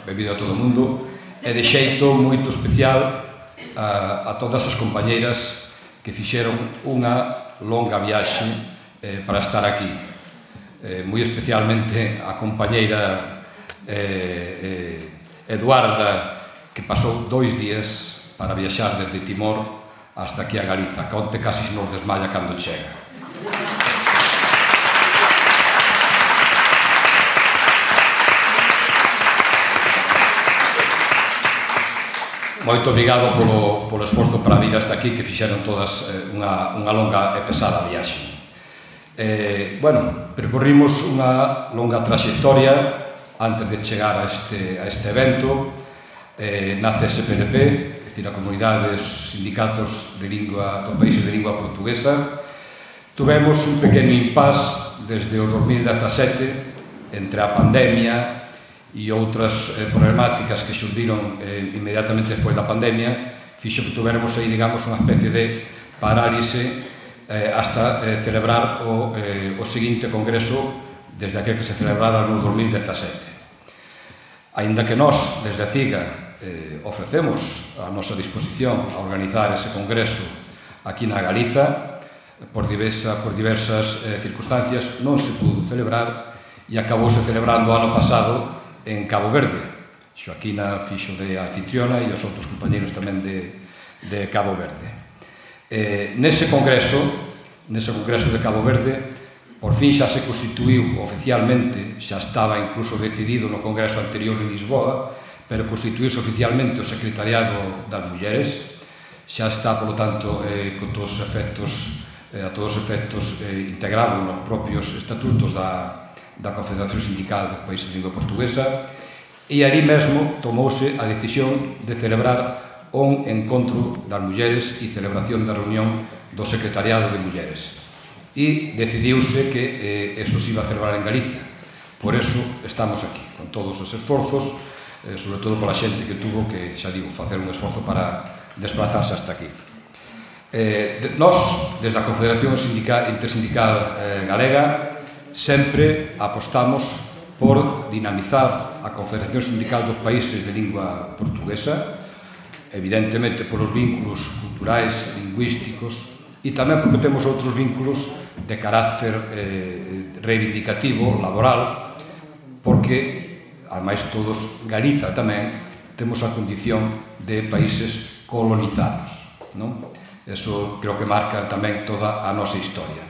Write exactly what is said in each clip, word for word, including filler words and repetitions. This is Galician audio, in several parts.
benvido a todo o mundo, e de xeito moito especial a, a todas as compañeiras que fixeron unha longa viaxe eh, para estar aquí. Eh, moi especialmente a compañeira eh, eh, Eduarda, que pasou dois días para viaxar desde Timor hasta aquí a Galiza, que onte casi se nos desmaya cando chega. Moito obrigado polo, polo esforzo para vir hasta aquí, que fixeron todas eh, unha, unha longa e pesada viaxe. Eh, bueno, percorrimos unha longa traxectoria antes de chegar a este, a este evento eh, na C S P L P, é dicir, a Comunidade dos Sindicatos de lingua, dos Países de Lingua Portuguesa. Tuvemos un pequeno impás desde o dos mil dezasete entre a pandemia e outras eh, problemáticas que xurdiron eh, inmediatamente despois da pandemia, fixo que tuveramos aí, digamos, unha especie de parálise eh, hasta eh, celebrar o, eh, o seguinte congreso desde aquel que se celebrara no dos mil dezasete. Aínda que nós, desde a CIGA, eh, ofrecemos a nosa disposición a organizar ese congreso aquí na Galiza, por, diversa, por diversas eh, circunstancias, non se pudo celebrar e acabouse celebrando ano pasado en Cabo Verde. Xoaquina fixo de anfitriona e os outros compañeros tamén de, de Cabo Verde. Eh, nese congreso, nese congreso de Cabo Verde, por fin xa se constituiu oficialmente, xa estaba incluso decidido no congreso anterior en Lisboa, pero constituíuse oficialmente o Secretariado das Mulleres, xa está, polo tanto, eh, con todos os efectos, eh, a todos os efectos eh, integrado nos propios estatutos da da Confederación Sindical dos Países de Lingua Portuguesa, e ali mesmo tomouse a decisión de celebrar un encontro das mulleres e celebración da reunión do Secretariado de Mulleres. E decidiuse que eh, eso se iba a celebrar en Galicia. Por eso estamos aquí, con todos os esforzos, eh, sobre todo pola xente que tuvo que, xa digo, facer un esforzo para desplazarse hasta aquí. Eh, de, nós, desde a Confederación Sindical, Intersindical eh, Galega, sempre apostamos por dinamizar a Confederación Sindical dos Países de Lingua Portuguesa, evidentemente por os vínculos culturais, lingüísticos, e tamén porque temos outros vínculos de carácter eh, reivindicativo, laboral, porque, ademais todos, Galiza tamén, temos a condición de países colonizados, non? Eso creo que marca tamén toda a nosa historia.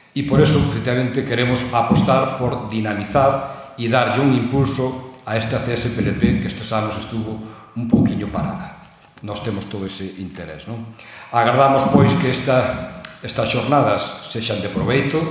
E por eso, efectivamente, queremos apostar por dinamizar e darlle un impulso a esta C S P L P que estes anos estuvo un pouquiño parada. Nós temos todo ese interés, non? Agardamos, pois, que esta, estas xornadas sexan de proveito,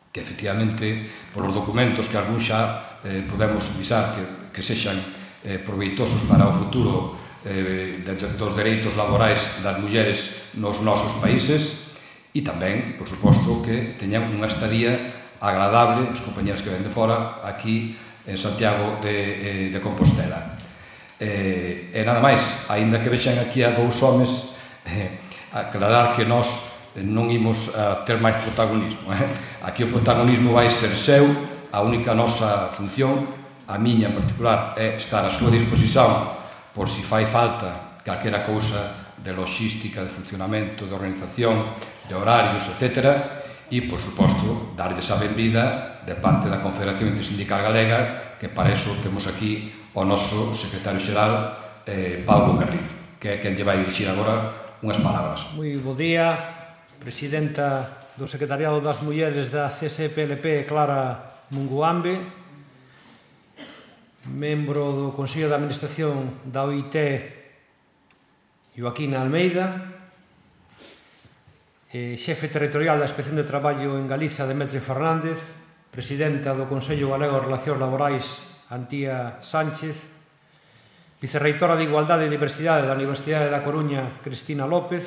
que, efectivamente, por os documentos que algún xa eh, podemos visar que, que sexan eh, proveitosos para o futuro eh, de, dos dereitos laborais das mulleres nos nosos países, e tamén, por suposto, que teñan unha estadía agradable, as compañeras que ven de fora, aquí en Santiago de, de Compostela. Eh, e nada máis, aínda que vexan aquí a dous homes, eh, aclarar que nós non imos a ter máis protagonismo. Eh? Aquí o protagonismo vai ser seu, a única nosa función, a miña en particular, é estar a súa disposición por si fai falta calquera cousa de logística, de funcionamento, de organización, de horarios, etcétera, e, por suposto, darlles a benvida de parte da Confederación Intersindical Galega, que para iso temos aquí o noso secretario xeral, eh, Paulo Carril, que é quen lle vai dirixir agora unhas palabras. Moi bo día, presidenta do Secretariado das Mulleres da C S P L P, Clara Munguambe, membro do Consello de Administración da O I T, Joaquina Almeida, xefe territorial da Inspección de Traballo en Galiza, Demetrio Fernández, presidenta do Consello Galego de Relacións Laborais, Antía Sánchez, vicerreitora de Igualdade e Diversidade da Universidade da Coruña, Cristina López,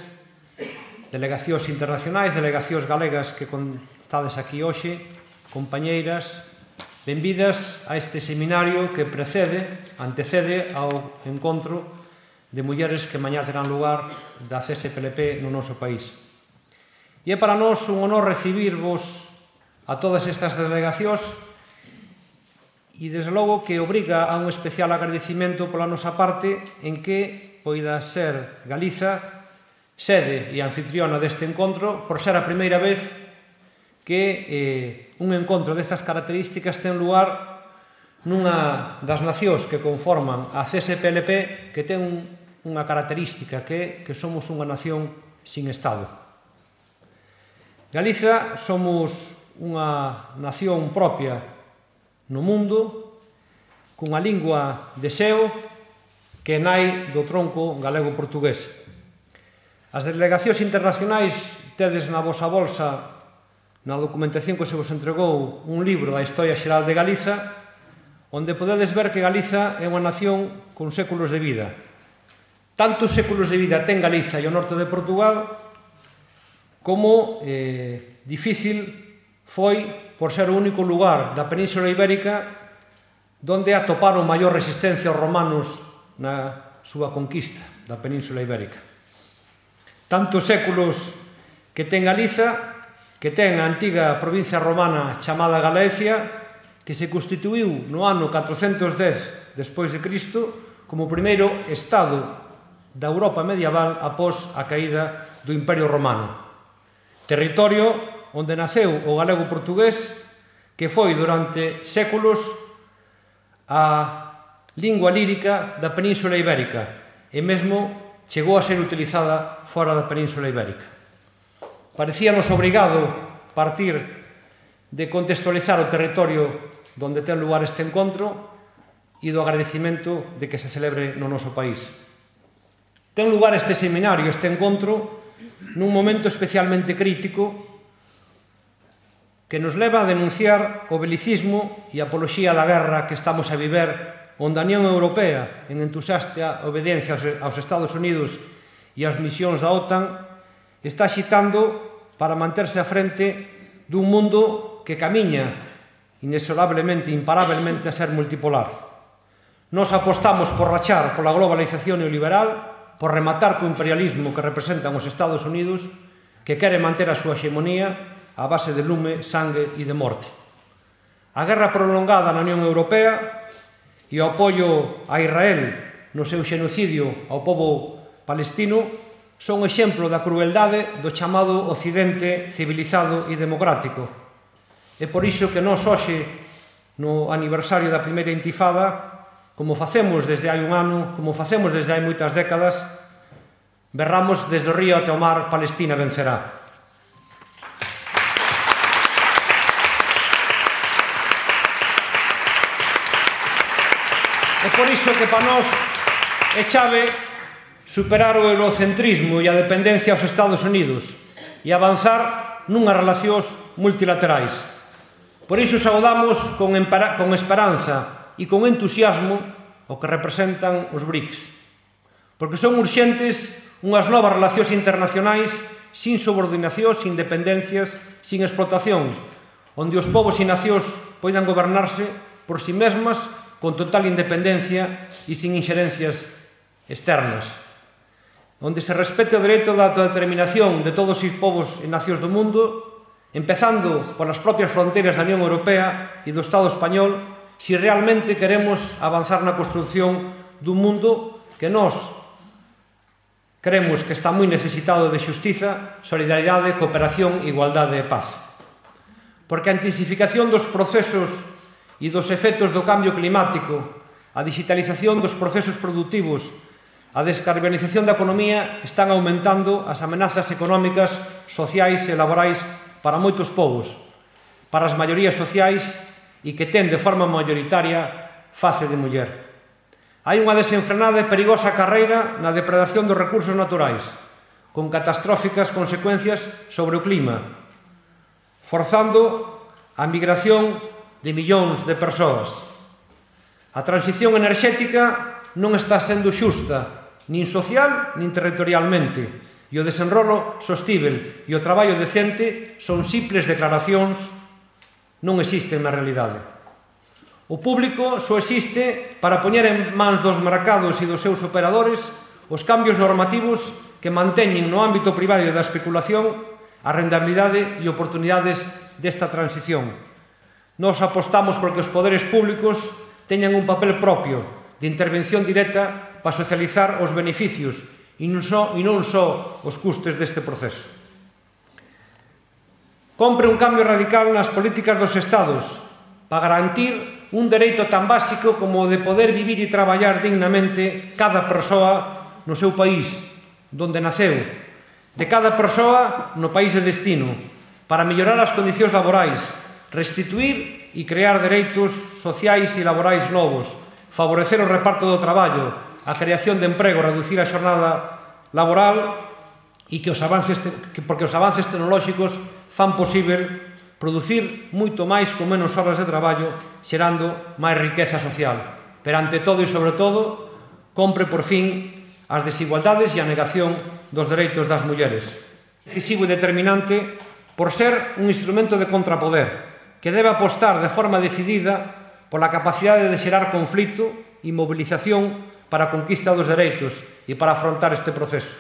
delegacións internacionais, delegacións galegas que estades aquí hoxe, compañeiras, benvidas a este seminario que precede, antecede ao encontro de mulleres que mañá terán lugar da C S P L P no noso país. E é para nós un honor recibirvos a todas estas delegacións e, desde logo, que obriga a un especial agradecimento pola nosa parte en que poida ser Galiza sede e anfitriona deste encontro por ser a primeira vez que eh, un encontro destas características ten lugar nunha das nacións que conforman a C S P L P, que ten un, unha característica, que, que somos unha nación sin Estado. Galiza somos unha nación propia no mundo, cunha lingua de seo que nai do tronco galego-portugués. As delegacións internacionais tedes na vosa bolsa, na documentación que se vos entregou, un libro da Historia Xeral de Galiza, onde podedes ver que Galiza é unha nación con séculos de vida. Tantos séculos de vida ten Galiza e o norte de Portugal como eh, difícil foi por ser o único lugar da Península Ibérica donde atoparon maior resistencia aos romanos na súa conquista da Península Ibérica. Tantos séculos que ten Galiza, que ten a antiga provincia romana chamada Galaecia, que se constituíu no ano catrocentos dez despois de Cristo como o primeiro estado da Europa medieval após a caída do Imperio Romano. Territorio onde naceu o galego portugués, que foi durante séculos a lingua lírica da Península Ibérica e mesmo chegou a ser utilizada fora da Península Ibérica. Parecíanos obrigado partir de contextualizar o territorio donde ten lugar este encontro e do agradecimento de que se celebre no noso país. Ten lugar este seminario, este encontro, nun momento especialmente crítico que nos leva a denunciar o belicismo e a apoloxía da guerra que estamos a viver, onde a Unión Europea, en entusiasta obediencia aos Estados Unidos e ás misións da OTAN, está xitando para manterse a frente dun mundo que camiña inexorablemente, imparablemente a ser multipolar. Nos apostamos por rachar pola globalización neoliberal, por rematar co imperialismo que representan os Estados Unidos, que quere manter a súa hexemonía a base de lume, sangue e de morte. A guerra prolongada na Unión Europea e o apoio a Israel no seu xenocidio ao pobo palestino son exemplo da crueldade do chamado Occidente civilizado e democrático. É por iso que nós hoxe, no aniversario da primeira intifada, como facemos desde hai un ano, como facemos desde hai moitas décadas, berramos desde o río até o mar, Palestina vencerá. É por iso que para nós é chave superar o eurocentrismo e a dependencia aos Estados Unidos e avanzar nunhas relacións multilaterais. Por iso saudamos con esperanza e con entusiasmo o que representan os BRICS, porque son urxentes unhas novas relacións internacionais sin subordinación, sin dependencias, sin explotación, onde os povos e nacións poidan gobernarse por si mesmas con total independencia e sin inxerencias externas, onde se respete o dereito da autodeterminación de todos os povos e nacións do mundo, empezando polas propias fronteiras da Unión Europea e do Estado español, se realmente queremos avanzar na construción dun mundo que nós creemos que está moi necesitado de xustiza, solidaridade, cooperación, igualdade e paz. Porque a intensificación dos procesos e dos efectos do cambio climático, a digitalización dos procesos productivos, a descarbonización da economía están aumentando as amenazas económicas, sociais e laborais para moitos povos, para as maiorías sociais e que ten de forma maioritaria face de muller. Hai unha desenfrenada e perigosa carreira na depredación dos recursos naturais, con catastróficas consecuencias sobre o clima, forzando a migración de millóns de persoas. A transición enerxética non está sendo xusta, nin social, nin territorialmente, e o desenrolo sostíbel e o traballo decente son simples declaracións, non existen na realidade. O público só existe para poñer en mans dos mercados e dos seus operadores os cambios normativos que manteñen no ámbito privado da especulación a rentabilidade e oportunidades desta transición. Nos apostamos porque os poderes públicos teñan un papel propio de intervención directa para socializar os beneficios e non só, e non só os custes deste proceso. Compre un cambio radical nas políticas dos Estados para garantir un dereito tan básico como o de poder vivir e traballar dignamente cada persoa no seu país, donde naceu, de cada persoa no país de destino, para mellorar as condicións laborais, restituir e crear dereitos sociais e laborais novos, favorecer o reparto do traballo, a creación de emprego, reducir a xornada laboral e que os avances, porque os avances tecnolóxicos fan posible producir moito máis con menos horas de traballo, xerando máis riqueza social. Pero, ante todo e sobre todo, compre por fin as desigualdades e a negación dos dereitos das mulleres. Decisivo e determinante por ser un instrumento de contrapoder que debe apostar de forma decidida pola capacidade de xerar conflito e mobilización para a conquista dos dereitos e para afrontar este proceso.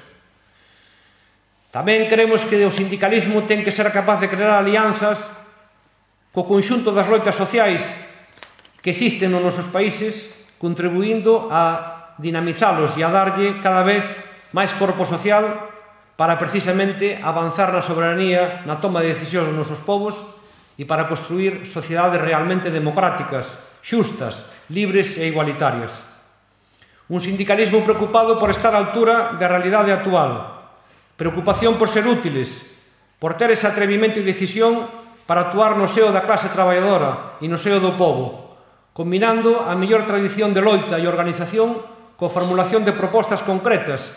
Tamén queremos que o sindicalismo ten que ser capaz de crear alianzas co conxunto das loitas sociais que existen nos nosos países, contribuindo a dinamizalos e a darlle cada vez máis corpo social para precisamente avanzar na soberanía, na toma de decisións dos nosos povos e para construir sociedades realmente democráticas, xustas, libres e igualitarias. Un sindicalismo preocupado por estar á altura da realidade actual, preocupación por ser útiles, por ter ese atrevimento e decisión para actuar no seo da clase traballadora e no seo do povo, combinando a mellor tradición de loita e organización coa formulación de propostas concretas,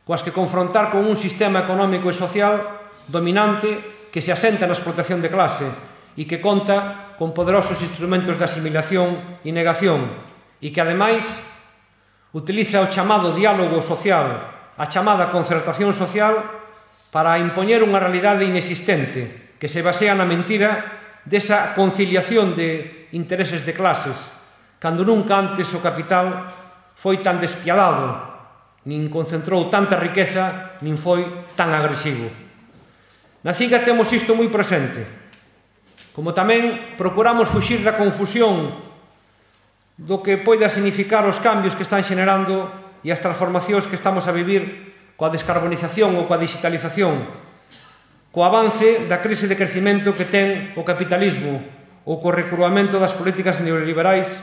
coas que confrontar con un sistema económico e social dominante que se asenta na explotación de clase e que conta con poderosos instrumentos de asimilación e negación e que, ademais, utiliza o chamado diálogo social, a chamada concertación social, para impoñer unha realidade inexistente que se basea na mentira desa conciliación de intereses de clases, cando nunca antes o capital foi tan despiadado, nin concentrou tanta riqueza, nin foi tan agresivo. Na CIGA temos isto moi presente, como tamén procuramos fuxir da confusión do que poida significar os cambios que están xenerando e as transformacións que estamos a vivir coa descarbonización ou coa digitalización, co avance da crise de crecimento que ten o capitalismo ou co recruamento das políticas neoliberais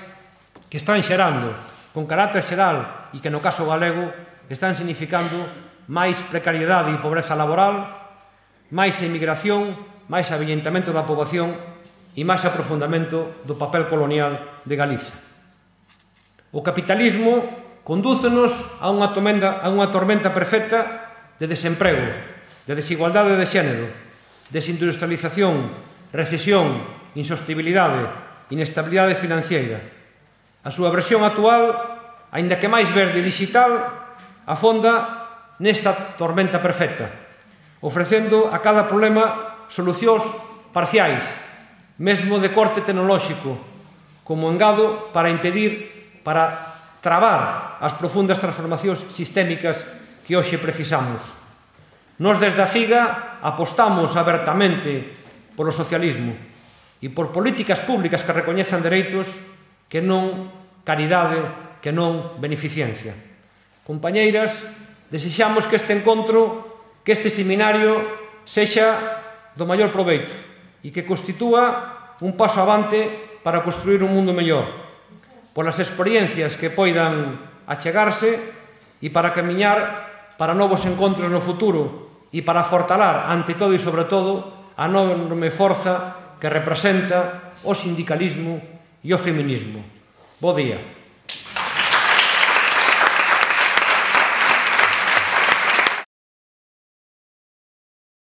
que están xerando con carácter xeral e que no caso galego están significando máis precariedade e pobreza laboral, máis emigración, máis avellentamento da poboación e máis aprofundamento do papel colonial de Galicia. O capitalismo condúcenos a unha tormenta, a unha tormenta perfecta de desemprego, de desigualdade de xénero, desindustrialización, recesión, insostibilidade, inestabilidade financiera. A súa versión actual, aínda que máis verde e digital, afonda nesta tormenta perfecta, ofrecendo a cada problema solucións parciais, mesmo de corte tecnolóxico, como engado para impedir, para travar as profundas transformacións sistémicas que hoxe precisamos. Nos desde a CIGA apostamos abertamente polo socialismo e por políticas públicas que recoñezan dereitos que non caridade, que non beneficencia. Compañeiras, desexamos que este encontro, que este seminario sexa do maior proveito e que constitúa un paso avante para construir un mundo mellor, polas experiencias que poidan achegarse e para camiñar para novos encontros no futuro e para fortalar, ante todo e sobre todo, a enorme forza que representa o sindicalismo e o feminismo. Bo día.